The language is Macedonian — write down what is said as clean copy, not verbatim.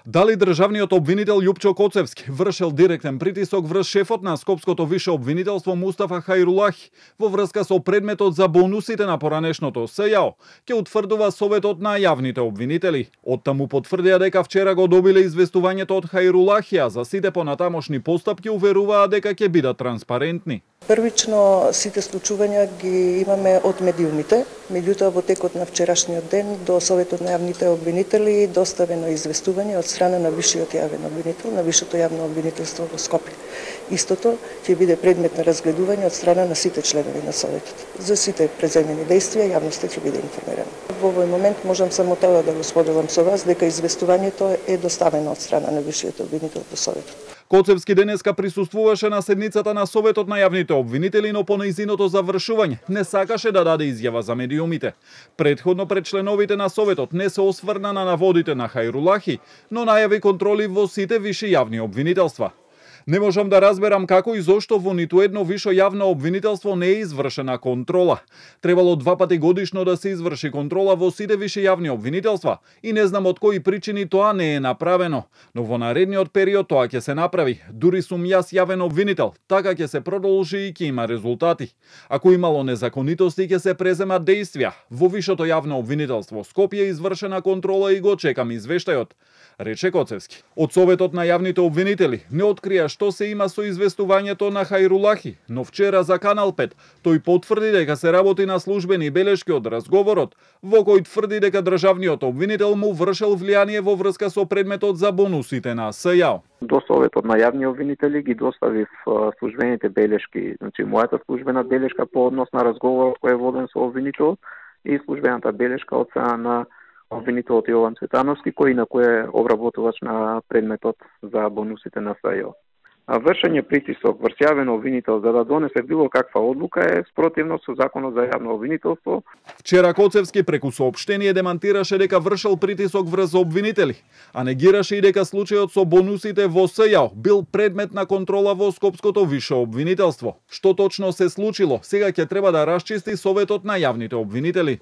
Дали државниот обвинител Љупчо Коцевски вршел директен притисок врз шефот на Скопското више обвинителство Мустафа Хајрулахи во врска со предметот за бонусите на поранешното СЈАО, ќе утврдува Советот на јавните обвинители. Оттаму потврдија дека вчера го добиле известувањето од Хајрулахи, а за сите понатамошни постапки уверуваа дека ќе бидат транспарентни. Првично сите случувања ги имаме од медиумите, меѓутоа во текот на вчерашниот ден до Советот на јавните обвинители доставено известување од страна на висшиот јавен обвинител, на висшето јавно обвинителство во Скопје. Истото ќе биде предмет на разгледување од страна на сите членови на Советот. За сите преземени дејствија јавноста ќе биде информирана. Во овој момент можам само тоа да го споделам со вас дека известувањето е доставено од страна на висшиот обвинител до Советот. Коцевски денеска присуствуваше на седницата на Советот на јавните обвинители, но по нејзиното завршување не сакаше да даде изјава за медиумите. Претходно пред членовите на Советот не се осврна на наводите на Хајрулахи, но најави контроли во сите виши јавни обвинителства. Не можам да разберам како и зошто во ниту едно вишо јавно обвинителство не е извршена контрола. Требало 2 пати годишно да се изврши контрола во сите виши јавни обвинителства и не знам од кои причини тоа не е направено. Но во наредниот период тоа ќе се направи. Дури сум јас јавен обвинител, така ќе се продолжи и ќе има резултати. Ако имало незаконитости ќе се преземат дејствија. Во вишото јавно обвинителство Скопје извршена контрола и го чекам извештајот, рече Коцевски. Од Советот на јавните обвинители не открија што се има со известувањето на Хајрулахи, но вчера за Канал 5 тој потврди дека се работи на службени белешки од разговорот, во кој тврди дека државниот обвинител му вршел влијание во врска со предметот за бонусите на СЈАО. До Советот на јавни обвинители ги доставив службените белешки, значи мојата службена белешка по однос на разговорот кој е воден со обвинителот и службената белешка од страна на обвинителот Јован Цветановски, кој инаку е обработувач на предметот за бонусите на СЈАО. Вршење притисок врз јавен обвинител за да донесе било каква одлука е спротивно со Законот за јавно обвинителство. Вчера Коцевски преку соопштение демантираше дека вршел притисок врз обвинители, а негираше и дека случајот со бонусите во СЈАО бил предмет на контрола во Скопското више обвинителство. Што точно се случило, сега ќе треба да расчисти Советот на јавните обвинители.